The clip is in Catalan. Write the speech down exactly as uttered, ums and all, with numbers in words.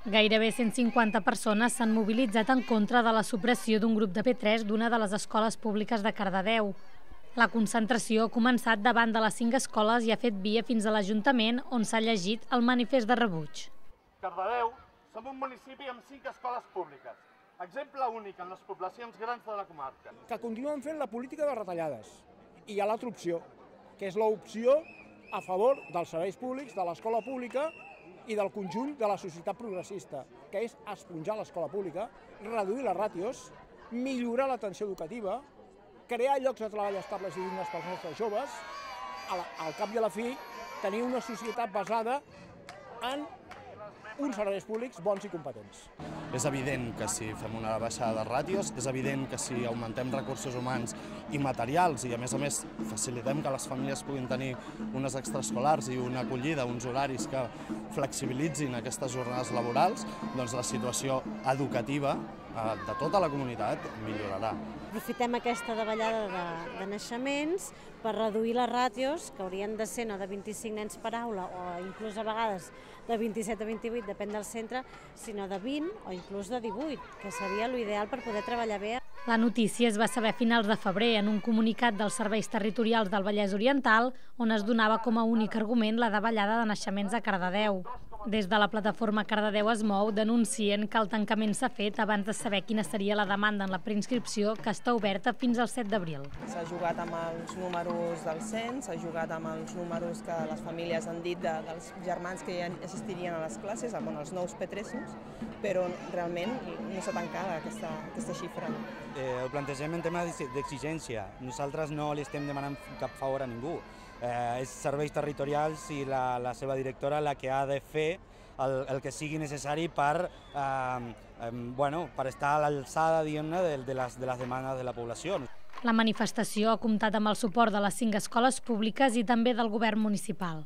Gairebé cent cinquanta persones s'han mobilitzat en contra de la supressió d'un grup de P tres d'una de les escoles públiques de Cardedeu. La concentració ha començat davant de les cinc escoles i ha fet via fins a l'Ajuntament, on s'ha llegit el manifest de rebuig. Cardedeu som un municipi amb cinc escoles públiques, exemple únic en les poblacions grans de la comarca. Que continuen fent la política de retallades. I hi ha l'altra opció, que és l'opció a favor dels serveis públics, de l'escola pública i del conjunt de la societat progressista, que és esponjar l'escola pública, reduir les ràtios, millorar l'atenció educativa, crear llocs de treball estables i dignes pels nostres joves, al cap i a la fi tenir una societat basada en uns serveis públics bons i competents. És evident que si fem una baixada de ràtios, és evident que si augmentem recursos humans i materials i a més a més facilitem que les famílies puguin tenir unes extraescolars i una acollida, uns horaris que flexibilitzin aquestes jornades laborals, doncs la situació educativa de tota la comunitat millorarà. Aprofitem aquesta davallada de, de naixements per reduir les ràtios, que haurien de ser no de vint-i-cinc nens per aula o inclús a vegades de vint-i-set a vint-i-vuit, depèn del centre, sinó de vint o inclús de divuit, que seria l'ideal per poder treballar bé. La notícia es va saber a finals de febrer en un comunicat dels serveis territorials del Vallès Oriental, on es donava com a únic argument la davallada de naixements a Cardedeu. Des de la plataforma Cardedeu es mou denuncien que el tancament s'ha fet abans de saber quina seria la demanda en la preinscripció, que està oberta fins al set d'abril. S'ha jugat amb els números del cens, s'ha jugat amb els números que les famílies han dit de, dels germans que ja assistirien a les classes, amb els nous P tres, però realment no s'ha tancat aquesta, aquesta xifra. Eh, ho plantegem en tema d'exigència. Nosaltres no li estem demanant cap favor a ningú. Eh, és serveis territorials i la, la seva directora la que ha de fer el, el que sigui necessari per, eh, eh, bueno, per estar a l'alçada de, de, les, de les demandes de la població. La manifestació ha comptat amb el suport de les cinc escoles públiques i també del govern municipal.